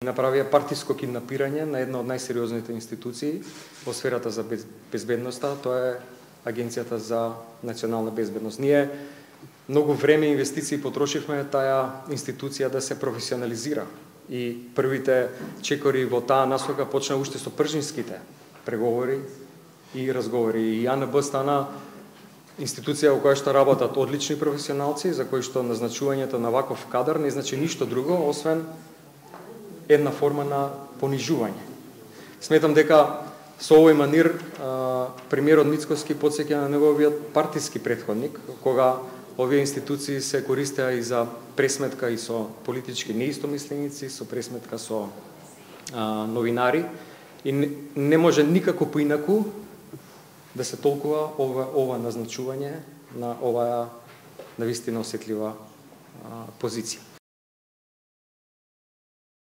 Направија партиско киднапирање на една од најсериозните институции во сферата за безбедноста, тоа е Агенцијата за национална безбедност. Ние многу време и инвестиции потрошивме таа институција да се професионализира и првите чекори во таа насока почна уште со пржинските преговори и разговори. И АНБ стана институција во која што работат одлични професионалци, за кои што назначувањето на ваков кадар не значи ништо друго освен една форма на понижување. Сметам дека со овој манир премиерот Мицкоски потсеќа на неговиот партиски претходник, кога овие институции се користеа и за пресметка и со политички неистомисленици, со пресметка со новинари, и не може никако поинаку да се толкува ова назначување на оваа навистина осетлива позиција.